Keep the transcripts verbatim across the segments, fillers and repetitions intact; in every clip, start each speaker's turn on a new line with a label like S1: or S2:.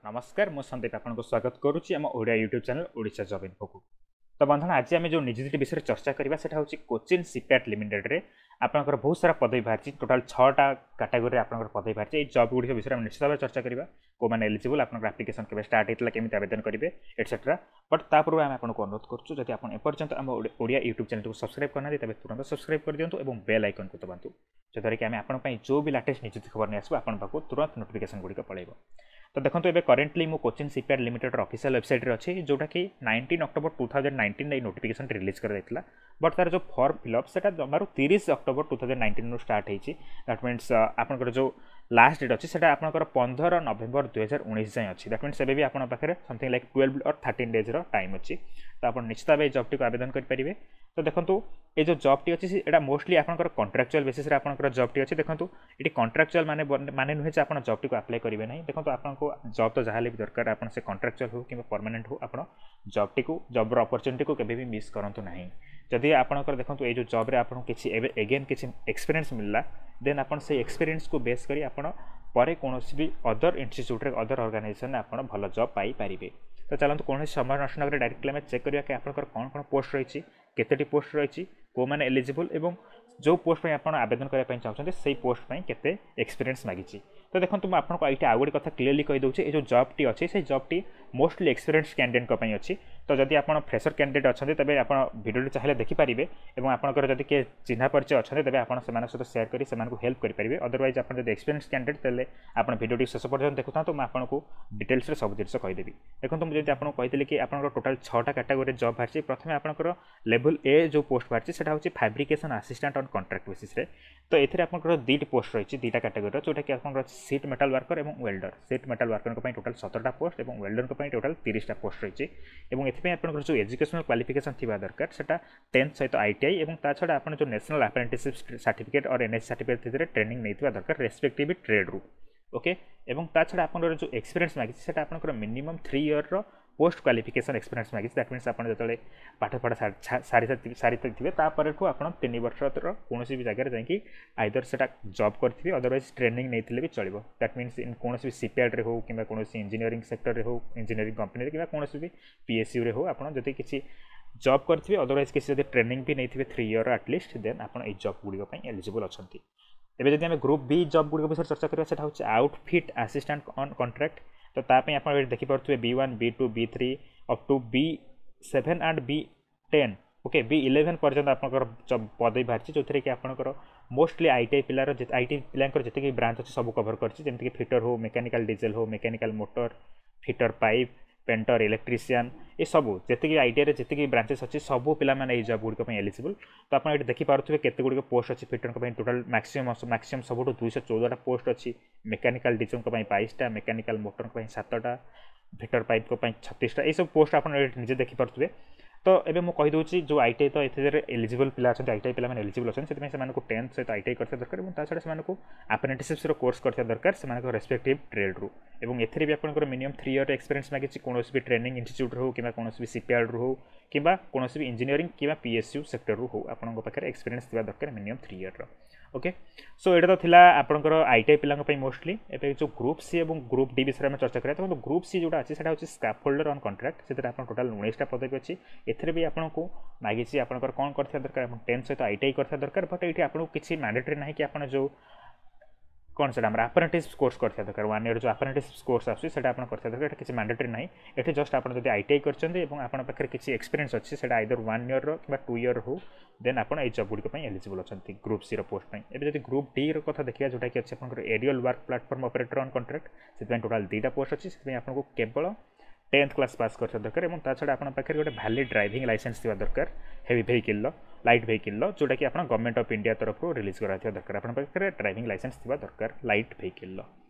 S1: ନମସ୍କାର ମୁଁ ସନ୍ଦୀପ ଆପଣଙ୍କୁ ସ୍ୱାଗତ କରୁଛି ଆମ Odia YouTube channel Odisha job ଇନଫୋକୁ ତ ବନ୍ଧୁଗଣ ଆଜି ଆମେ ଯେଉଁ ନିଯୁକ୍ତି ବିଷୟରେ ଚର୍ଚ୍ଚା କରିବା ସେଟା ହେଉଛି କୋଚିନ୍ ସିପୟାର୍ଡ ଲିମିଟେଡ଼୍ରେ ଆପଣଙ୍କର ବହୁତ ସାରା ପଦବୀ ବାହାରିଛି ଟୋଟାଲ୍ ଛଅଟା କାଟାଗୋରୀରେ ଆପଣଙ୍କର ପଦବୀ ବାହାରିଛି ଏଇ ଜବ୍ ଗୁଡ଼ିକ ବିଷୟରେ ଆମେ ନିଶ୍ଚିତ ଭାବେ ଚର୍ଚ୍ଚା କରିବା କେଉଁମାନେ ଏଲିଜିବଲ୍ ଆପଣଙ୍କର ଆପ୍ଲିକେସନ୍ କେବେ ଷ୍ଟାର୍ଟ ହେଇଥିଲା କେମିତି ଆବେଦନ କରିବେ ଏଟସେଟ୍ରା ବଟ୍ ତା ପୂର୍ବରୁ ଆମେ ଆପଣଙ୍କୁ ଅନୁରୋଧ କରୁଛୁ ଯଦି ଆପଣ ଏପର୍ଯ୍ୟନ୍ତ ଆମ ଓଡ଼ିଆ ୟୁଟ୍ୟୁବ୍ ଚ୍ୟାନେଲକୁ ସବସ୍କ୍ରାଇବ୍ କରିନାହାନ୍ତି ତେବେ ତୁରନ୍ତ ସବସ୍କ୍ରାଇବ୍ କରିଦିଅନ୍ତୁ ଏବଂ ବେଲ୍ ଆଇକନ୍କୁ ଦବାନ୍ତୁ ଯଦ୍ୱାରା କି ଆମେ ଆପଣଙ୍କ ପାଇଁ ଯେଉଁ ବି ଲାଟେଷ୍ଟ ନିଯୁକ୍ତି ଖବର ନେଇ ଆସିବୁ ଆପଣଙ୍କ ପାଖକୁ ତୁରନ୍ତ ନୋଟିଫିକେସନ୍ ଗୁଡ଼ିକ ପଳାଇବ ତ ଦେଖନ୍ତୁ ଏବେ କରେଣ୍ଟଲି ମୁଁ କୋଚିନ୍ ସିପୟାର୍ଡ ଲିମିଟେଡ୍ର ଅଫିସିଆଲ୍ ୱେବସାଇଟ୍ରେ ଅଛି ଯେଉଁଟାକି nineteen October two thousand nineteen ଏଇ ନୋଟିଫିକେସନ୍ ରିଲିଜ୍ କରାଯାଇଥିଲା ବଟ୍ ତାର ଯେଉଁ ଫର୍ମ ଫିଲ୍ଅପ୍ ସେଟା ଜମାରୁ ତିରିଶ ଅକ୍ଟୋବର ଟୁ ଥାଉଜେଣ୍ଡ ନାଇଣ୍ଟିନ୍ରୁ ଷ୍ଟାର୍ଟ ହେଇଛି that means ଆପଣଙ୍କର ଯେଉଁ ଲାଷ୍ଟ ଡେଟ୍ ଅଛି ସେଟା ଆପଣଙ୍କର ପନ୍ଦର ନଭେମ୍ବର ଦୁଇହଜାର ଉଣେଇଶ ଯାଏଁ ଅଛି that means ଏବେ ବି ଆପଣଙ୍କ ପାଖରେ something like twelve or thirteen ଡେଜ୍ର time ଅଛି ତ ଆପଣ ନିଶ୍ଚିତ ଭାବେ ଏଇ ଜବ୍ଟିକୁ ଆବେଦନ କରିପାରିବେ ତ ଦେଖନ୍ତୁ ଏ ଯେଉଁ ଜବ୍ଟି ଅଛି ଏଇଟା ମୋଷ୍ଟଲି ଆପଣଙ୍କର କଣ୍ଟ୍ରାକ୍ଚୁଆଲ୍ ବେସିସ୍ରେ ଆପଣଙ୍କର ଜବ୍ଟି ଅଛି ଦେଖନ୍ତୁ ଏଠି କଣ୍ଟ୍ରାକ୍ଚୁଆଲ୍ ମାନେ ମାନେ ନୁହେଁ ଯେ ଆପଣ ଜବ୍ଟିକୁ ଆପ୍ଲାଏ କରିବେ ନାହିଁ ଦେଖନ୍ତୁ ଆପଣଙ୍କୁ ଜବ୍ ତ ଯାହାହେଲେ ବି ଦରକାର ଆପଣ ସେ କଣ୍ଟ୍ରାକ୍ଚୁଆଲ୍ ହେଉ କିମ୍ବା ପରମାନେଣ୍ଟ ହେଉ ଆପଣ ଜବ୍ଟିକୁ ଜବ୍ର ଅପରଚ୍ୟୁନିଟିକୁ କେବେ ବି ମିସ୍ କରନ୍ତୁ ନାହିଁ ଯଦି ଆପଣଙ୍କର ଦେଖନ୍ତୁ ଏଇ ଯେଉଁ ଜବ୍ରେ ଆପଣଙ୍କୁ କିଛି ଏବେ ଏଗେନ୍ କିଛି ଏକ୍ସପିରିଏନ୍ସ ମିଳିଲା ଦେନ୍ ଆପଣ ସେଇ ଏକ୍ସପିରିଏନ୍ସକୁ ବେସ୍ କରି ଆପଣ ପରେ କୌଣସି ବି ଅଦର ଇନଷ୍ଟିଚ୍ୟୁଟ୍ରେ ଅଦର ଅର୍ଗାନାଇଜେସନ୍ରେ ଆପଣ ଭଲ ଜବ୍ ପାଇପାରିବେ ତ ଚାଲନ୍ତୁ କୌଣସି ସମୟ ନଷ୍ଟ ନକରି ଡାଇରେକ୍ଟଲି ଆମେ ଚେକ୍ କରିବା କି ଆପଣଙ୍କର କ'ଣ କ'ଣ ପୋଷ୍ଟ ରହିଛି କେତୋଟି ପୋଷ୍ଟ ରହିଛି କେଉଁମାନେ ଏଲିଜିବଲ୍ ଏବଂ ଯେଉଁ ପୋଷ୍ଟ ପାଇଁ ଆପଣ ଆବେଦନ କରିବା ପାଇଁ ଚାହୁଁଛନ୍ତି ସେଇ ପୋଷ୍ଟ ପାଇଁ କେତେ ଏକ୍ସପିରିଏନ୍ସ ମାଗିଛି ତ ଦେଖନ୍ତୁ ମୁଁ ଆପଣଙ୍କୁ ଏଇଠି ଆଉ ଗୋଟେ କଥା କ୍ଲିୟରଲି କହିଦେଉଛି ଏ ଯେଉଁ ଜବ୍ଟି ଅଛି ସେଇ ଜବ୍ଟି ମୋଷ୍ଟଲି ଏକ୍ସପିରିଏନ୍ସ କ୍ୟାଣ୍ଡିଡେଟ୍ଙ୍କ ପାଇଁ ଅଛି ତ ଯଦି ଆପଣ ଫ୍ରେସର କ୍ୟାଣ୍ଡିଡେଟ୍ ଅଛନ୍ତି ତେବେ ଆପଣ ଭିଡ଼ିଓଟି ଚାହିଁଲେ ଦେଖିପାରିବେ ଏବଂ ଆପଣଙ୍କର ଯଦି କିଏ ଚିହ୍ନା ପରିଚୟ ଅଛନ୍ତି ତେବେ ଆପଣ ସେମାନଙ୍କ ସହିତ ସେୟାର କରି ସେମାନଙ୍କୁ ହେଲ୍ପ କରିପାରିବେ ଅଦରୱାଇଜ୍ ଆପଣ ଯଦି ଏକ୍ସପିରିଏନ୍ସ କ୍ୟାଣ୍ଡିଡେଟ୍ ତାହେଲେ ଆପଣ ଭିଡ଼ିଓଟି ଶେଷ ପର୍ଯ୍ୟନ୍ତ ଦେଖୁଥାନ୍ତୁ ମୁଁ ଆପଣଙ୍କୁ ଡିଟେଲ୍ସରେ ସବୁ ଜିନିଷ କହିଦେବି ଦେଖନ୍ତୁ ମୁଁ ଯେମିତି ଆପଣଙ୍କୁ କହିଥିଲି କି ଆପଣଙ୍କର ଟୋଟାଲ୍ ଛଅଟା କାଟାଗୋରୀରେ ଜବ୍ ବାହାରିଛି ପ୍ରଥମେ ଆପଣଙ୍କର ଲେଭେଲ୍ ଏ ଯେଉଁ ପୋଷ୍ଟ ବାହାରିଛି ସେଟା ହେଉଛି ଫାବ୍ରିକେସନ୍ ଆସିଷ୍ଟାଣ୍ଟ ଅନ୍ କଣ୍ଟ୍ରାକ୍ଟ ବେସିସ୍ରେ ତ ଏଥିରେ ଆପଣଙ୍କର ଦୁଇଟି ପୋଷ୍ଟ ରହିଛି ଦୁଇଟା କାଟାଗୋରୀର ଯେଉଁଟାକି ଆପଣଙ୍କର ଅଛି ସିଟ୍ ମେଟାଲ୍ ୱାର୍କର ଏବଂ ୱେଲ୍ଡର ସିଟ୍ ମେଟାଲ୍ ୱାର୍କରଙ୍କ ପାଇଁ ଟୋଟାଲ୍ ସତରଟା ପୋଷ୍ଟ ଏବଂ ୱେଲ୍ଡରଙ୍କ ପାଇଁ ଟୋଟାଲ୍ ତିରିଶଟା ପୋଷ୍ଟ ରହିଛି ଏବଂ ଏଥିପାଇଁ ଆପଣଙ୍କର ଯେଉଁ ଏଜୁକେସନାଲ୍ କ୍ୱାଲିଫିକେସନ୍ ଥିବା ଦରକାର ସେଟା ଟେନ୍ଥ ସହିତ I T I ଏବଂ ତା ଛଡ଼ା ଆପଣ ଯେଉଁ National Apprenticeship Certificate or N S certificate ସେଥିରେ ଟ୍ରେନିଂ ନେଇଥିବା ଦରକାର ରେସ୍ପେକ୍ଟିଭ୍ ଟ୍ରେଡ୍ରୁ ଓକେ ଏବଂ ତା ଛଡ଼ା ଆପଣଙ୍କର ଯେଉଁ ଏକ୍ସପିରିଏନ୍ସ ମାଗିଛି ସେଟା ଆପଣଙ୍କର ମିନିମମ୍ ଥ୍ରୀ ଇୟର୍ର ପୋଷ୍ଟ କ୍ୱାଲିଫିକେସନ୍ ଏକ୍ସପିରିଏନ୍ସ ମାଗିଛି that means ଆପଣ ଯେତେବେଳେ ପାଠପଢ଼ା ସାରି ସାରିଥିବେ ତାପରଠୁ ଆପଣ ତିନି ବର୍ଷର କୌଣସି ବି ଜାଗାରେ ଯାଇକି ଆଇଦର ସେଟା ଜବ୍ କରିଥିବେ ଅଦରୱାଇଜ୍ ଟ୍ରେନିଂ ନେଇଥିଲେ ବି ଚଳିବ that means in କୌଣସି ବି ସିପୟାର୍ଡ଼ରେ ହେଉ କିମ୍ବା କୌଣସି ଇଞ୍ଜିନିୟରିଂ ସେକ୍ଟରରେ ହେଉ ଇଞ୍ଜିନିୟରିଂ କମ୍ପାନୀରେ କିମ୍ବା କୌଣସି ବି ପିଏସ୍ୟୁରେ ହେଉ ଆପଣ ଯଦି କିଛି ଜବ୍ କରିଥିବେ ଅଦରୱାଇଜ୍ କିଛି ଯଦି ଟ୍ରେନିଂ ବି ନେଇଥିବେ three year at least ଦେନ୍ ଆପଣ ଏଇ ଜବ୍ ଗୁଡ଼ିକ ପାଇଁ ଏଲିଜିବଲ୍ ଅଛନ୍ତି ଏବେ ଯଦି ଆମେ ଗ୍ରୁପ୍ ବି ଜବ୍ ଗୁଡ଼ିକ ବିଷୟରେ ଚର୍ଚ୍ଚା କରିବା ସେଟା ହେଉଛି ଆଉଟଫିଟ୍ ଆସିଷ୍ଟାଣ୍ଟ ଅନ୍ କଣ୍ଟ୍ରାକ୍ଟ ତ ତା ପାଇଁ ଆପଣ ଏଠି ଦେଖିପାରୁଥିବେ B one B two B three up to B seven and B ten okay B eleven ପର୍ଯ୍ୟନ୍ତ ଆପଣଙ୍କର ପଦବୀ ବାହାରିଛି ଯେଉଁଥିରେ କି ଆପଣଙ୍କର ମୋଷ୍ଟଲି I T I ପିଲାର I T ପିଲାଙ୍କର ଯେତିକି ବ୍ରାଞ୍ଚ ଅଛି ସବୁ କଭର କରିଛି ଯେମିତିକି ଫିଟର ହଉ ମେକାନିକାଲ ଡିଜେଲ ହଉ mechanical motor fitter pipe painter electrician ଏସବୁ ଯେତିକି ଆଇଟିଆଇରେ ଯେତିକି ବ୍ରାଞ୍ଚେସ୍ ଅଛି ସବୁ ପିଲାମାନେ ଏଇ ଜବ୍ ଗୁଡ଼ିକ ପାଇଁ ଏଲିଜିବଲ୍ ତ ଆପଣ ଏଠି ଦେଖିପାରୁଥିବେ କେତେ ଗୁଡ଼ିକ ପୋଷ୍ଟ ଅଛି ଫିଟରଙ୍କ ପାଇଁ ଟୋଟାଲ୍ ମ୍ୟାକ୍ସିମମ୍ ମ୍ୟାକ୍ସିମମ୍ ସବୁଠୁ ଦୁଇଶହ ଚଉଦଟା ପୋଷ୍ଟ ଅଛି ମେକାନିକାଲ ଡିଜେଲଙ୍କ ପାଇଁ ବାଇଶଟା ମେକାନିକାଲ ମୋଟରଙ୍କ ପାଇଁ ସାତଟା ଫିଟର ପାଇପ୍ଙ୍କ ପାଇଁ ଛତିଶଟା ଏଇସବୁ ପୋଷ୍ଟ ଆପଣ ଏଠି ନିଜେ ଦେଖିପାରୁଥିବେ ତ ଏବେ ମୁଁ କହିଦେଉଛି ଯେଉଁ I T I ତ ଏଥିରେ ଏଲିଜିବଲ୍ ପିଲା ଅଛନ୍ତି I T I ପିଲାମାନେ ଏଲିଜିବଲ୍ ଅଛନ୍ତି ସେଥିପାଇଁ ସେମାନଙ୍କୁ ଟେନ୍ଥ ସହିତ I T I କରିଥିବା ଦରକାର ଏବଂ ତା ଛଡ଼ା ସେମାନଙ୍କୁ ଆପ୍ରେଣ୍ଟିସିପ୍ସର କୋର୍ସ କରିଥିବା ଦରକାର ସେମାନଙ୍କ ରେସ୍ପେକ୍ଟିଭ୍ ଟ୍ରେଡ୍ରୁ ଏବଂ ଏଥିରେ ବି ଆପଣଙ୍କର ମିନିମମ୍ ଥ୍ରୀ ଇୟର୍ ଏକ୍ସପିରିଏନ୍ସ ମାଗିଛି କୌଣସି ବି ଟ୍ରେନିଂ ଇନଷ୍ଟିଚ୍ୟୁଟ୍ରୁ ହେଉ କିମ୍ବା କୌଣସି ବି ସିପୟାର୍ଡ଼ରୁ ହେଉ କିମ୍ବା କୌଣସି ବି ଇଞ୍ଜିନିୟରିଂ କିମ୍ବା ପି ଏସ୍ ୟୁ ସେକ୍ଟରରୁ ହେଉ ଆପଣଙ୍କ ପାଖରେ ଏକ୍ସପିରିଏନ୍ସ ଥିବା ଦରକାର ମିନିମମ୍ ଥ୍ରୀ ଇୟର୍ର ଓକେ ସୋ ଏଇଟା ତ ଥିଲା ଆପଣଙ୍କର I T I ପିଲାଙ୍କ ପାଇଁ ମୋଷ୍ଟଲି ଏବେ ଯେଉଁ ଗ୍ରୁପ୍ ସି ଏବଂ ଗ୍ରୁପ୍ ଡି ବିଷୟରେ ଆମେ ଚର୍ଚ୍ଚା କରିବା ଦେଖନ୍ତୁ ଗ୍ରୁପ୍ ସି ଯେଉଁଟା ଅଛି ସେଇଟା ହେଉଛି ସ୍କାଫୋଲ୍ଡର ଅନ୍ କଣ୍ଟ୍ରାକ୍ଟ ସେଥିରେ ଆପଣ ଟୋଟାଲ୍ ଉଣେଇଶଟା ପଦବୀ ଅଛି ଏଥିରେ ବି ଆପଣଙ୍କୁ ମାଗିଛି ଆପଣଙ୍କର କ'ଣ କରିଥିବା ଦରକାର ଆପଣ ଟେନ୍ଥ ସହିତ I T I କରିଥିବା ଦରକାର ବଟ୍ ଏଇଠି ଆପଣଙ୍କୁ କିଛି ମ୍ୟାଣ୍ଡେଟରୀ ନାହିଁ କି ଆପଣ ଯେଉଁ କ'ଣ ସେଟା ଆମର ଆପ୍ରେଣ୍ଟିସ୍ କୋର୍ସ କରିଥିବା ଦରକାର ୱାନ୍ ଇୟର୍ ଯେଉଁ ଆପ୍ରେଣ୍ଟିସ୍ କୋର୍ସ ଆସୁଛି ସେଟା ଆପଣ କରିଥିବା ଦରକାର ଏଟା କିଛି ମ୍ୟାଣ୍ଡେଟରୀ ନାହିଁ ଏଠି ଜଷ୍ଟ ଆପଣ ଯଦି I T I କରିଛନ୍ତି ଏବଂ ଆପଣଙ୍କ ପାଖରେ କିଛି ଏକ୍ସପିରିଏନ୍ସ ଅଛି ସେଟା ଆଇଦର ୱାନ୍ ଇୟର୍ର କିମ୍ବା ଟୁ ଇୟର୍ ହଉ ଦେନ୍ ଆପଣ ଏଇ ଜବ୍ ଗୁଡ଼ିକ ପାଇଁ ଏଲିଜିବଲ୍ ଅଛନ୍ତି ଗ୍ରୁପ୍ ସିର ପୋଷ୍ଟ ପାଇଁ ଏବେ ଯଦି ଗ୍ରୁପ୍ ଡିର କଥା ଦେଖିବା ଯେଉଁଟାକି ଅଛି ଆପଣଙ୍କର aerial work platform operator on contract ସେଥିପାଇଁ ଟୋଟାଲ୍ ଦୁଇଟା ପୋଷ୍ଟ ଅଛି ସେଥିପାଇଁ ଆପଣଙ୍କୁ କେବଳ ଟେନ୍ଥ କ୍ଲାସ୍ ପାସ୍ କରିଥିବା ଦରକାର ଏବଂ ତା ଛଡ଼ା ଆପଣଙ୍କ ପାଖରେ ଗୋଟେ ଭ୍ୟାଲିଡ୍ ଡ୍ରାଇଭିଂ ଲାଇସେନ୍ସ ଥିବା ଦରକାର ହେଭି ଭେହିକିଲ୍ର ଲାଇଟ୍ ଭେହିକିଲ୍ର ଯେଉଁଟାକି ଆପଣ ଗଭର୍ଣ୍ଣମେଣ୍ଟ ଅଫ୍ ଇଣ୍ଡିଆ ତରଫରୁ ରିଲିଜ୍ କରାଯାଇଥିବା ଦରକାର ଆପଣଙ୍କ ପାଖରେ ଡ୍ରାଇଭିଂ ଲାଇସେନ୍ସ ଥିବା ଦରକାର ଲାଇଟ୍ ଭେହିକିଲ୍ର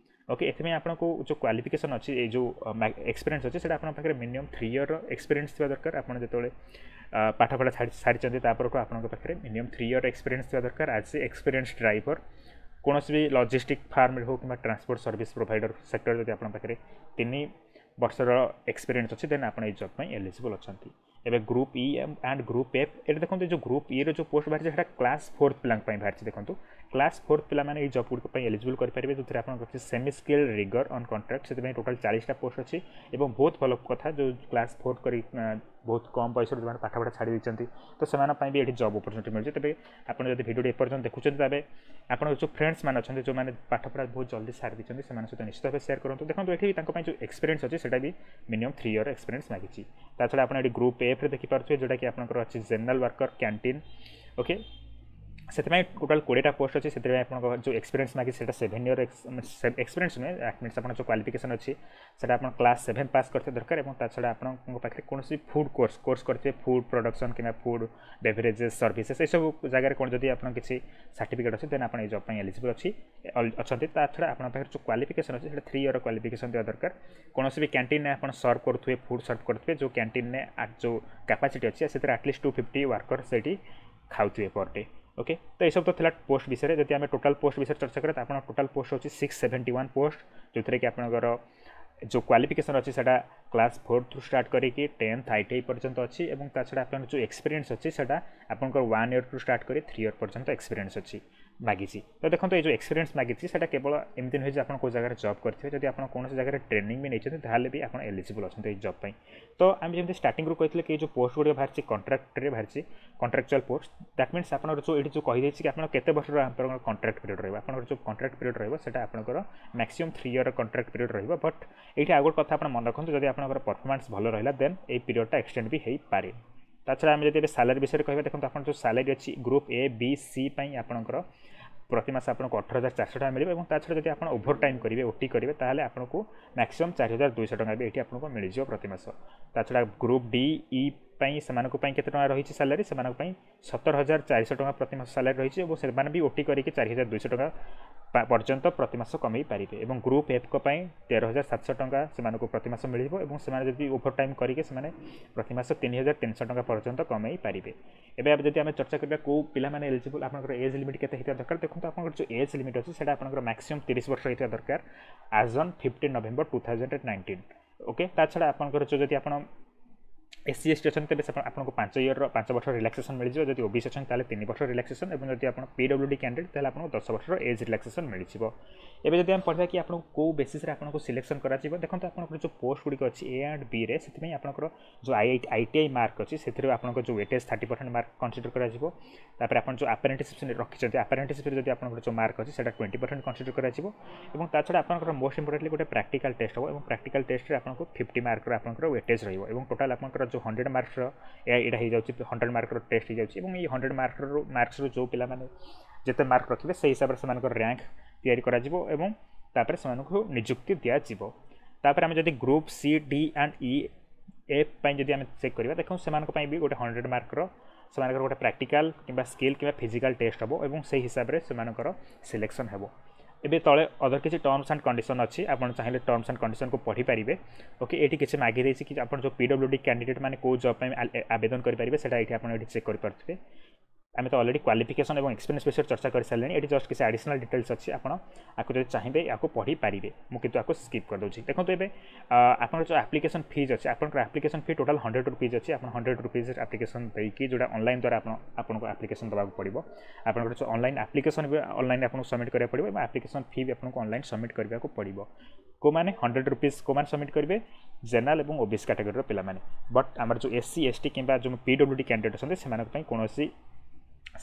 S1: ଓକେ ଏଥିପାଇଁ ଆପଣଙ୍କୁ ଯେଉଁ କ୍ୱାଲିଫିକେସନ୍ ଅଛି ଏଇ ଯେଉଁ ଏକ୍ସପିରିଏନ୍ସ ଅଛି ସେଇଟା ଆପଣଙ୍କ ପାଖରେ ମିନିମମ୍ ଥ୍ରୀ ଇୟର୍ର ଏକ୍ସପିରିଏନ୍ସ ଥିବା ଦରକାର ଆପଣ ଯେତେବେଳେ ପାଠପଢ଼ା ଛାଡ଼ି ସାରିଛନ୍ତି ତାପରଠୁ ଆପଣଙ୍କ ପାଖରେ ମିନିମମ୍ ଥ୍ରୀ ଇୟର୍ ଏକ୍ସପିରିଏନ୍ସ ଥିବା ଦରକାର ଆଜ୍ ଏ ଏକ୍ସପିରିଏନ୍ସ ଡ୍ରାଇଭର କୌଣସି ବି ଲଜିଷ୍ଟିକ୍ ଫାର୍ମରେ ହେଉ କିମ୍ବା ଟ୍ରାନ୍ସପୋର୍ଟ ସର୍ଭିସ୍ ପ୍ରୋଭାଇଡ଼ର ସେକ୍ଟର ଯଦି ଆପଣଙ୍କ ପାଖରେ ତିନି ବର୍ଷର ଏକ୍ସପିରିଏନ୍ସ ଅଛି ଦେନ୍ ଆପଣ ଏଇ ଜବ୍ ପାଇଁ ଏଲିଜିବଲ୍ ଅଛନ୍ତି ଏବେ group E and group F ଏଠି ଦେଖନ୍ତୁ ଯେଉଁ ଗ୍ରୁପ୍ ଇର ଯେଉଁ ପୋଷ୍ଟ ବାହାରିଛି ସେଟା କ୍ଲାସ୍ ଫୋର୍ଥ ପିଲାଙ୍କ ପାଇଁ ବାହାରିଛି ଦେଖନ୍ତୁ କ୍ଲାସ୍ ଫୋର୍ଥ ପିଲାମାନେ ଏଇ ଜବ୍ ଗୁଡ଼ିକ ପାଇଁ ଏଲିଜିବଲ୍ କରିପାରିବେ ଯେଉଁଥିରେ ଆପଣଙ୍କର ଅଛି semi skill rigger on contract ସେଥିପାଇଁ ଟୋଟାଲ୍ ଚାଳିଶଟା ପୋଷ୍ଟ ଅଛି ଏବଂ ବହୁତ ଭଲ କଥା ଯେଉଁ କ୍ଲାସ୍ ଫୋର୍ଥ କରି ବହୁତ କମ୍ ବୟସରୁ ଯେଉଁମାନେ ପାଠପଢ଼ା ଛାଡ଼ି ଦେଇଛନ୍ତି ତ ସେମାନଙ୍କ ପାଇଁ ବି ଏଠି ଜବ୍ ଅପରଚୁନିଟି ମିଳୁଛି ତେବେ ଆପଣ ଯଦି ଭିଡ଼ିଓଟି ଏପର୍ଯ୍ୟନ୍ତ ଦେଖୁଛନ୍ତି ତେବେ ଆପଣଙ୍କ ଯେଉଁ ଫ୍ରେଣ୍ଡସ୍ ମାନେ ଅଛନ୍ତି ଯେଉଁମାନେ ପାଠପଢ଼ା ବହୁତ ଜଲ୍ଦି ସାରି ଦେଇଛନ୍ତି ସେମାନଙ୍କ ସହିତ ନିଶ୍ଚିତ ଭାବେ ସେୟାର କରନ୍ତୁ ଦେଖନ୍ତୁ ଏଠି ତାଙ୍କ ପାଇଁ ଯେଉଁ ଏକ୍ସପିରିଏନ୍ସ ଅଛି ସେଇଟା ବି ମିନିମମ୍ ଥ୍ରୀ ଇୟର୍ ଏକ୍ସପିରିଏନ୍ସ ମାଗିଛି ତା ଛଡ଼ା ଆପଣ ଏଠି ଗ୍ରୁପ୍ ଏଫ୍ରେ ଦେଖିପାରୁଥିବେ ଯେଉଁଟାକି ଆପଣଙ୍କର ଅଛି ଜେନେରାଲ୍ ୱାର୍କର କ୍ୟାଣ୍ଟିନ୍ ଓକେ ସେଥିପାଇଁ ଟୋଟାଲ୍ କୋଡ଼ିଏଟା ପୋଷ୍ଟ ଅଛି ସେଥିପାଇଁ ଆପଣଙ୍କ ଯେଉଁ ଏକ୍ସପିରିଏନ୍ସ ମାଗିଛି ସେଇଟା ସେଭେନ୍ ଇୟର୍ ଏକ୍ସପିରିଏନ୍ସ ନୁହେଁ that means ଆପଣ ଯେଉଁ କ୍ୱାଲିଫିକେସନ୍ ଅଛି ସେଇଟା ଆପଣ କ୍ଲାସ୍ ସେଭେନ୍ ପାସ୍ କରିଥିବା ଦରକାର ଏବଂ ତା ଛଡ଼ା ଆପଣଙ୍କ ପାଖରେ କୌଣସି ଫୁଡ଼୍ କୋର୍ସ କୋର୍ସ କରିଥିବେ ଫୁଡ଼୍ ପ୍ରଡକ୍ସନ୍ କିମ୍ବା ଫୁଡ଼୍ ବେଭରେଜେସ୍ ସର୍ଭିସେସ୍ ଏସବୁ ଜାଗାରେ କ'ଣ ଯଦି ଆପଣ କିଛି ସାର୍ଟିଫିକେଟ୍ ଅଛି ଦେନ୍ ଆପଣ ଏଇ ଜବ୍ ପାଇଁ ଏଲିଜିବଲ୍ ଅଛି ଅଛନ୍ତି ତା ଛଡ଼ା ଆପଣଙ୍କ ପାଖରେ ଯେଉଁ କ୍ୱାଲିଫିକେସନ୍ ଅଛି ସେଇଟା ଥ୍ରୀ ଇୟର୍ କ୍ୱାଲିଫିକେସନ୍ ଦେବା ଦରକାର କୌଣସି ବି କ୍ୟାଣ୍ଟିନ୍ରେ ଆପଣ ସର୍ଭ କରୁଥିବେ ଫୁଡ଼୍ ସର୍ଭ କରୁଥିବେ ଯେଉଁ କ୍ୟାଣ୍ଟିନ୍ରେ ଯେଉଁ କାପାସିଟି ଅଛି ସେଥିରେ at least two fifty worker ସେଇଠି ଖାଉଥିବେ ପର୍ ଡେ ଓକେ ତ ଏସବୁ ତ ଥିଲା ପୋଷ୍ଟ ବିଷୟରେ ଯଦି ଆମେ ଟୋଟାଲ୍ ପୋଷ୍ଟ ବିଷୟରେ ଚର୍ଚ୍ଚା କରିବା ତ ଆପଣ ଟୋଟାଲ୍ ପୋଷ୍ଟ ହେଉଛି ସିକ୍ସ ସେଭେଣ୍ଟି ୱାନ୍ ପୋଷ୍ଟ ଯେଉଁଥିରେ କି ଆପଣଙ୍କର ଯେଉଁ କ୍ୱାଲିଫିକେସନ୍ ଅଛି ସେଇଟା କ୍ଲାସ୍ ଫୋର୍ଥରୁ ଷ୍ଟାର୍ଟ କରିକି ଟେନ୍ଥ I T I ପର୍ଯ୍ୟନ୍ତ ଅଛି ଏବଂ ତା ଛଡ଼ା ଆପଣଙ୍କର ଯେଉଁ ଏକ୍ସପିରିଏନ୍ସ ଅଛି ସେଇଟା ଆପଣଙ୍କର ୱାନ୍ ଇୟର୍ରୁ ଷ୍ଟାର୍ଟ କରି ଥ୍ରୀ ଇୟର୍ ପର୍ଯ୍ୟନ୍ତ ଏକ୍ସପିରିଏନ୍ସ ଅଛି ମାଗିଛି ତ ଦେଖନ୍ତୁ ଏଇ ଯେଉଁ ଏକ୍ସପିରିଏନ୍ସ ମାଗିଛି ସେଇଟା କେବଳ ଏମିତି ନୁହେଁ ଯେ ଆପଣ କେଉଁ ଜାଗାରେ ଜବ୍ କରିଥିବେ ଯଦି ଆପଣ କୌଣସି ଜାଗାରେ ଟ୍ରେନିଂ ବି ନେଇଛନ୍ତି ତାହେଲେ ବି ଆପଣ ଏଲିଜିବଲ୍ ଅଛନ୍ତି ଏଇ ଜବ୍ ପାଇଁ ତ ଆମେ ଯେମିତି ଷ୍ଟାର୍ଟିଂରୁ କହିଥିଲେ କି ଏଇ ଯେଉଁ ପୋଷ୍ଟ ଗୁଡ଼ିକ ବାହାରିଛି କଣ୍ଟ୍ରାକ୍ଟରେ ବାହାରିଛି କଣ୍ଟ୍ରାକ୍ଚୁଆଲ୍ ପୋଷ୍ଟ that means ଆପଣଙ୍କର ଯେଉଁ ଏଇଠି ଯେଉଁ କହିଦେଇଛି କି ଆପଣ କେତେ ବର୍ଷର ଆପଣଙ୍କର କଣ୍ଟ୍ରାକ୍ଟ ପିରିୟଡ଼ ରହିବ ଆପଣଙ୍କର ଯେଉଁ କଣ୍ଟ୍ରାକ୍ଟ ପିରିୟଡ଼ ରହିବ ସେଇଟା ଆପଣଙ୍କର maximum three year contract period ରହିବ ବଟ୍ ଏଇଠି ଆଉ ଗୋଟେ କଥା ଆପଣ ମନେ ରଖନ୍ତୁ ଯଦି ଆପଣଙ୍କର ପରଫର୍ମାନ୍ସ ଭଲ ରହିଲା ଦେନ୍ ଏଇ ପିରିୟଡ଼ଟା ଏକ୍ସଟେଣ୍ଡ ବି ହେଇପାରେ ତା ଛଡ଼ା ଆମେ ଯଦି ଏବେ ସାଲାରୀ ବିଷୟରେ କହିବା ଦେଖନ୍ତୁ ଆପଣ ଯେଉଁ ସାଲାରୀ ଅଛି ଗ୍ରୁପ୍ ଏ ବି ସି ପାଇଁ ଆପଣଙ୍କର ପ୍ରତି ମାସ ଆପଣଙ୍କୁ ଅଠର ହଜାର ଚାରିଶହ ଟଙ୍କା ମିଳିବ ଏବଂ ତା ଛଡ଼ା ଯଦି ଆପଣ ଓଭର ଟାଇମ୍ କରିବେ ଓ ଟି କରିବେ ତାହେଲେ ଆପଣଙ୍କୁ ମ୍ୟାକ୍ସିମମ୍ ଚାରି ହଜାର ଦୁଇଶହ ଟଙ୍କା ବି ଏଇଠି ଆପଣଙ୍କୁ ମିଳିଯିବ ପ୍ରତି ମାସ ତା ଛଡ଼ା ଗ୍ରୁପ୍ ଡି ଇ ପାଇଁ ସେମାନଙ୍କ ପାଇଁ କେତେ ଟଙ୍କା ରହିଛି ସାଲାରୀ ସେମାନଙ୍କ ପାଇଁ ସତର ହଜାର ଚାରିଶହ ଟଙ୍କା ପ୍ରତି ମାସ ସାଲାରୀ ରହିଛି ଏବଂ ସେମାନେ ବି ଓ ଟି କରିକି ଚାରି ହଜାର ଦୁଇଶହ ଟଙ୍କା ପର୍ଯ୍ୟନ୍ତ ପ୍ରତି ମାସ କମେଇ ପାରିବେ ଏବଂ ଗ୍ରୁପ୍ ଏଫ୍ଙ୍କ ପାଇଁ ତେର ହଜାର ସାତଶହ ଟଙ୍କା ସେମାନଙ୍କୁ ପ୍ରତି ମାସ ମିଳିବ ଏବଂ ସେମାନେ ଯଦି ଓଭର ଟାଇମ୍ କରିକି ସେମାନେ ପ୍ରତି ମାସ ତିନି ହଜାର ତିନିଶହ ଟଙ୍କା ପର୍ଯ୍ୟନ୍ତ କମେଇ ପାରିବେ ଏବେ ଯଦି ଆମେ ଚର୍ଚ୍ଚା କରିବା କେଉଁ ପିଲାମାନେ ଏଲିଜିବଲ୍ ଆପଣଙ୍କର ଏଜ୍ ଲିମିଟ୍ କେତେ ହେଇଥିବା ଦରକାର ଦେଖନ୍ତୁ ଆପଣଙ୍କର ଯେଉଁ ଏଜ୍ ଲିମିଟ୍ ଅଛି ସେଇଟା ଆପଣଙ୍କର ମ୍ୟାକ୍ସିମମ୍ ତିରିଶ ବର୍ଷ ହେଇଥିବା ଦରକାର as on fifteen November two thousand nineteen okay ତା ଛଡ଼ା ଆପଣଙ୍କର ଯେଉଁ ଯଦି ଆପଣ ଏସ୍ ସି ଏସ୍ ଟି ଅଛନ୍ତି ତେବେ ଆପଣଙ୍କୁ ପାଞ୍ଚ ଇୟର୍ର ପାଞ୍ଚ ବର୍ଷ ରିଲାକ୍ସେସନ୍ ମିଳିଯିବ ଯଦି ଓ ବି ସି ଅଛନ୍ତି ତାହେଲେ ତିନି ବର୍ଷ ରିଲାକ୍ସେସନ୍ ଏବଂ ଯଦି ଆପଣ ପି ଡବ୍ଲ୍ୟୁ ଡି କ୍ୟାଣ୍ଡିଡେଟ୍ ତାହେଲେ ଆପଣଙ୍କୁ ଦଶ ବର୍ଷର ଏଜ୍ ରିଲାକ୍ସେସନ୍ ମିଳିଯିବ ଏବେ ଯଦି ଆମେ ପଢ଼ିବା କି ଆପଣଙ୍କୁ କେଉଁ ବେସିସ୍ରେ ଆପଣଙ୍କୁ ସିଲେକ୍ସନ୍ କରାଯିବ ଦେଖନ୍ତୁ ଆପଣଙ୍କର ଯେଉଁ ପୋଷ୍ଟ ଗୁଡ଼ିକ ଅଛି ଏ ଆଣ୍ଡ ବିରେ ସେଥିପାଇଁ ଆପଣଙ୍କର ଯେଉଁ I I T I mark ଅଛି ସେଥିରେ ଆପଣଙ୍କ ଯେଉଁ weightage thirty percent mark consider କରାଯିବ ତାପରେ ଆପଣ ଯେଉଁ ଆପ୍ରେଣ୍ଟିସିପ୍ ରଖିଛନ୍ତି ଆପ୍ରେଣ୍ଟିସିପ୍ରେ ଯଦି ଆପଣଙ୍କର ଯେଉଁ ମାର୍କ ଅଛି ସେଇଟା ଟ୍ୱେଣ୍ଟି ପରସେଣ୍ଟ କନସିଡର କରାଯିବ ଏବଂ ତା ଛଡ଼ା ଆପଣଙ୍କର ମୋଷ୍ଟ ଇମ୍ପୋର୍ଟାଣ୍ଟଲି ଗୋଟେ ପ୍ରାକ୍ଟିକାଲ୍ ଟେଷ୍ଟ ହେବ ଏବଂ ପ୍ରାକ୍ଟିକାଲ୍ ଟେଷ୍ଟରେ ଆପଣଙ୍କୁ ଫିଫ୍ଟି ମାର୍କର ଆପଣଙ୍କର ୱେଟେଜ୍ ରହିବ ଏବଂ ଟୋଟାଲ୍ ଆପଣଙ୍କର ଯେଉଁ ହଣ୍ଡ୍ରେଡ଼ ମାର୍କସର ଏଇଟା ହେଇଯାଉଛି ହଣ୍ଡ୍ରେଡ଼ ମାର୍କର ଟେଷ୍ଟ ହେଇଯାଉଛି ଏବଂ ଏଇ ହଣ୍ଡ୍ରେଡ଼ ମାର୍କରୁ ମାର୍କସରୁ ଯେଉଁ ପିଲାମାନେ ଯେତେ ମାର୍କ ରଖିବେ ସେଇ ହିସାବରେ ସେମାନଙ୍କର ର୍ୟାଙ୍କ ତିଆରି କରାଯିବ ଏବଂ ତାପରେ ସେମାନଙ୍କୁ ନିଯୁକ୍ତି ଦିଆଯିବ ତାପରେ ଆମେ ଯଦି group C D and E F ପାଇଁ ଯଦି ଆମେ ଚେକ୍ କରିବା ଦେଖନ୍ତୁ ସେମାନଙ୍କ ପାଇଁ ବି ଗୋଟେ ହଣ୍ଡ୍ରେଡ଼ ମାର୍କର ସେମାନଙ୍କର ଗୋଟେ ପ୍ରାକ୍ଟିକାଲ୍ କିମ୍ବା ସ୍କିଲ୍ କିମ୍ବା ଫିଜିକାଲ୍ ଟେଷ୍ଟ ହେବ ଏବଂ ସେଇ ହିସାବରେ ସେମାନଙ୍କର ସିଲେକ୍ସନ୍ ହେବ ଏବେ ତଳେ ଅଦର କିଛି ଟର୍ମସ୍ ଆଣ୍ଡ କଣ୍ଡିସନ୍ ଅଛି ଆପଣ ଚାହିଁଲେ ଟର୍ମସ୍ ଆଣ୍ଡ କଣ୍ଡିସନ୍କୁ ପଢ଼ିପାରିବେ ଓକେ ଏଇଠି କିଛି ମାଗି ଦେଇଛି କି ଆପଣ ଯେଉଁ ପି ଡବ୍ଲ୍ୟୁ ଡି କ୍ୟାଣ୍ଡିଡେଟ୍ ମାନେ କେଉଁ ଜବ୍ ପାଇଁ ଆବେଦନ କରିପାରିବେ ସେଇଟା ଏଇଠି ଆପଣ ଏଇଠି ଚେକ୍ କରିପାରୁଥିବେ ଆମେ ତ ଅଲରେଡ଼ି କ୍ୱାଲିଫିକେସନ୍ ଏବଂ ଏକ୍ସପିରିଏନ୍ସ ବିଷୟରେ ଚର୍ଚ୍ଚା କରିସାରିଲେଣି ଏଠି ଜଷ୍ଟ କିଛି ଆଡ଼ିସନାଲ୍ ଡିଟେଲ୍ସ ଅଛି ଆପଣ ଆକୁ ଯଦି ଚାହିଁବେ ୟାକୁ ପଢ଼ିପାରିବେ ମୁଁ କିନ୍ତୁ ଆକୁ ସ୍କିପ୍ କରିଦେଉଛି ଦେଖନ୍ତୁ ଏବେ ଆପଣଙ୍କର ଯେଉଁ ଆପ୍ଲିକେସନ୍ ଫିଜ୍ ଅଛି ଆପଣଙ୍କର application fee total hundred rupees ଅଛି ଆପଣ ହଣ୍ଡ୍ରେଡ଼ ରୁପିଜ୍ ଆପ୍ଲିକେସନ୍ ଦେଇକି ଯେଉଁଟା ଅନଲାଇନ୍ ଦ୍ୱାରା ଆପଣ ଆପଣଙ୍କୁ ଆପ୍ଲିକେସନ୍ ଦେବାକୁ ପଡ଼ିବ ଆପଣଙ୍କର ଯେଉଁ ଅନଲାଇନ୍ ଆପ୍ଲିକେସନ୍ ବି ଅନଲାଇନ୍ ଆପଣଙ୍କୁ ସବମିଟ୍ କରିବାକୁ ପଡ଼ିବ ଏବଂ ଆପ୍ଲିକେସନ୍ ଫି ବି ଆପଣଙ୍କୁ ଅନଲାଇନ୍ ସବମିଟ୍ କରିବାକୁ ପଡ଼ିବ କେଉଁମାନେ ହଣ୍ଡ୍ରେଡ଼ ରୁପିଜ୍ କେଉଁମାନେ ସବମିଟ୍ କରିବେ ଜେନେରାଲ୍ ଏବଂ ଓବିସି କାଟାଗୋରୀର ପିଲାମାନେ ବଟ୍ ଆମର ଯେଉଁ ଏସ୍ ସି ଏସ୍ ଟି କିମ୍ବା ଯେଉଁ ପି ଡବ୍ଲ୍ୟୁ ଡି କ୍ୟାଣ୍ଡିଡେଟ୍ ଅଛନ୍ତି ସେମାନଙ୍କ ପାଇଁ କୌଣସି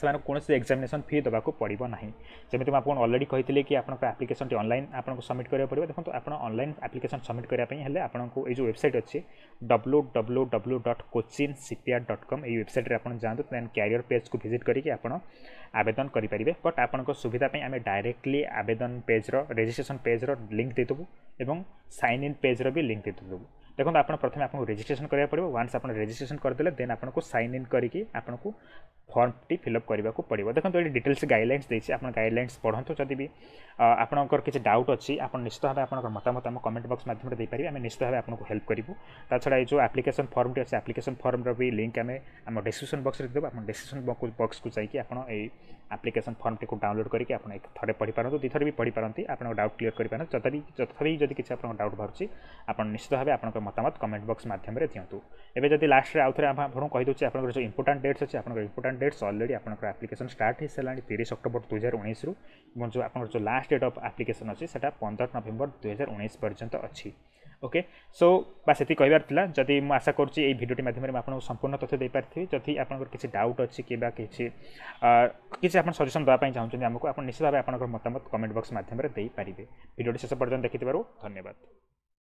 S1: ସେମାନଙ୍କୁ କୌଣସି ଏକ୍ଜାମିନେସନ୍ ଫି ଦେବାକୁ ପଡ଼ିବ ନାହିଁ ଯେମିତି ମୁଁ ଆପଣଙ୍କୁ ଅଲରେଡ଼ି କହିଥିଲି କି ଆପଣଙ୍କ ଆପ୍ଲିକେସନ୍ଟି ଅନଲାଇନ୍ ଆପଣଙ୍କୁ ସବମିଟ୍ କରିବାକୁ ପଡ଼ିବ ଦେଖନ୍ତୁ ଆପଣ ଅନଲାଇନ୍ ଆପ୍ଲିକେସନ୍ ସବମିଟ୍ କରିବା ପାଇଁ ହେଲେ ଆପଣଙ୍କୁ ଏଇ ଯେଉଁ ୱେବସାଇଟ୍ ଅଛି W W W dot Cochin Shipyard dot com ଏଇ ୱେବସାଇଟ୍ରେ ଆପଣ ଯାଆନ୍ତୁ ଦେନ୍ କ୍ୟାରିୟର ପେଜ୍କୁ ଭିଜିଟ୍ କରିକି ଆପଣ ଆବେଦନ କରିପାରିବେ ବଟ୍ ଆପଣଙ୍କ ସୁବିଧା ପାଇଁ ଆମେ ଡାଇରେକ୍ଟଲି ଆବେଦନ ପେଜ୍ର ରେଜିଷ୍ଟ୍ରେସନ୍ ପେଜ୍ର ଲିଙ୍କ୍ ଦେଇଦେବୁ ଏବଂ ସାଇନ୍ ଇନ୍ ପେଜ୍ର ବି ଲିଙ୍କ୍ ଦେଇଦେବୁ ଦେଖନ୍ତୁ ଆପଣ ପ୍ରଥମେ ଆପଣଙ୍କୁ ରେଜିଷ୍ଟ୍ରେସନ୍ କରିବାକୁ ପଡ଼ିବ ୱାନ୍ସ ଆପଣ ରେଜିଷ୍ଟ୍ରେସନ୍ କରିଦେଲେ ଦେନ୍ ଆପଣଙ୍କୁ ସାଇନ୍ ଇନ୍ କରିକି ଆପଣଙ୍କୁ ଫର୍ମଟି ଫିଲ୍ଅପ୍ କରିବାକୁ ପଡ଼ିବ ଦେଖନ୍ତୁ ଏଠି ଡିଟେଲ୍ସ ଗାଇଡ଼ଲାଇନ୍ସ ଦେଇଛି ଆପଣ ଗାଇଡ଼ଲାଇନ୍ସ ପଢ଼ନ୍ତୁ ଯଦି ବି ଆପଣଙ୍କର କିଛି ଡାଉଟ୍ ଅଛି ଆପଣ ନିଶ୍ଚିତ ଭାବେ ଆପଣଙ୍କର ମତାମତ ଆମ କମେଣ୍ଟ ବକ୍ସ ମାଧ୍ୟମରେ ଦେଇପାରିବେ ଆମେ ନିଶ୍ଚିତ ଭାବେ ଆପଣଙ୍କୁ ହେଲ୍ପ କରିବୁ ତା ଛଡ଼ା ଏଇ ଯେଉଁ ଆପ୍ଲିକେସନ୍ ଫର୍ମଟି ଅଛି ଆପ୍ଲିକେସନ୍ ଫର୍ମର ବି ଲିଙ୍କ୍ ଆମେ ଆମ ଡିସ୍କ୍ରିପ୍ସନ୍ ବକ୍ସରେ ଦେଇଦେବୁ ଆପଣ ଡିସ୍କ୍ରିପ୍ସନ୍ ବକ୍ସକୁ ଯାଇକି ଆପଣ ଏଇ ଆପ୍ଲିକେସନ୍ ଫର୍ମଟିକୁ ଡାଉନଲୋଡ଼ କରିକି ଆପଣ ଥରେ ପଢ଼ିପାରନ୍ତୁ ଦୁଇ ଥର ବି ପଢ଼ିପାରନ୍ତି ଆପଣଙ୍କ ଡାଉଟ୍ କ୍ଲିୟର କରିପାରନ୍ତି ତଥାପି ତଥାପି ଯଦି କିଛି ଆପଣଙ୍କ ଡାଉଟ୍ ବାହାରୁଛି ଆପଣ ନିଶ୍ଚିତ ଭାବେ ଆପଣଙ୍କ ମତାମତ କମେଣ୍ଟ ବକ୍ସ ମାଧ୍ୟମରେ ଦିଅନ୍ତୁ। ଏବେ ଯଦି ଲାଷ୍ଟରେ ଆଉ ଥରେ ଆପଣଙ୍କୁ କହିଦେଉଛି, ଆପଣଙ୍କର ଯେଉଁ ଇମ୍ପୋର୍ଟାଣ୍ଟ ଡେଟ୍ସ ଅଛି, ଆପଣଙ୍କର ଇମ୍ପୋର୍ଟାଣ୍ଟ ଡେଟ୍ସ ଅଲରେଡ଼ି ଆପଣଙ୍କର ଆପ୍ଲିକେସନ୍ ଷ୍ଟାର୍ଟ ହେଇସାରିଲାଣି ତିରିଶ ଅକ୍ଟୋବର ଦୁଇହଜାର ଉଣେଇଶରୁ ଏବଂ ଯେଉଁ ଆପଣଙ୍କର ଯେଉଁ ଲାଷ୍ଟ ଡେଟ୍ ଅଫ୍ ଆପ୍ଲିକେସନ୍ ଅଛି, ସେଟା ପନ୍ଦର ନଭେମ୍ବର ଦୁଇହଜାର ଉଣେଇଶ ପର୍ଯ୍ୟନ୍ତ ଅଛି। ଓକେ, ସୋ ବାସ୍ ସେତିକି କହିବାର ଥିଲା। ଯଦି ମୁଁ ଆଶା କରୁଛି ଏଇ ଭିଡ଼ିଓଟି ମାଧ୍ୟମରେ ମୁଁ ଆପଣଙ୍କୁ ସମ୍ପୂର୍ଣ୍ଣ ତଥ୍ୟ ଦେଇପାରିଥିବି। ଯଦି ଆପଣଙ୍କର କିଛି ଡାଉଟ୍ ଅଛି କିମ୍ବା କିଛି କିଛି ଆପଣ ସଜେସନ୍ ଦେବା ପାଇଁ ଚାହୁଁଛନ୍ତି ଆମକୁ, ଆପଣ ନିଶ୍ଚିତ ଭାବେ ଆପଣଙ୍କର ମତାମତ କମେଣ୍ଟ ବକ୍ସ ମାଧ୍ୟମରେ ଦେଇପାରିବେ। ଭିଡ଼ିଓଟି ଶେଷ ପର୍ଯ୍ୟନ୍ତ ଦେଖିଥିବାରୁ ଧନ୍ୟବାଦ।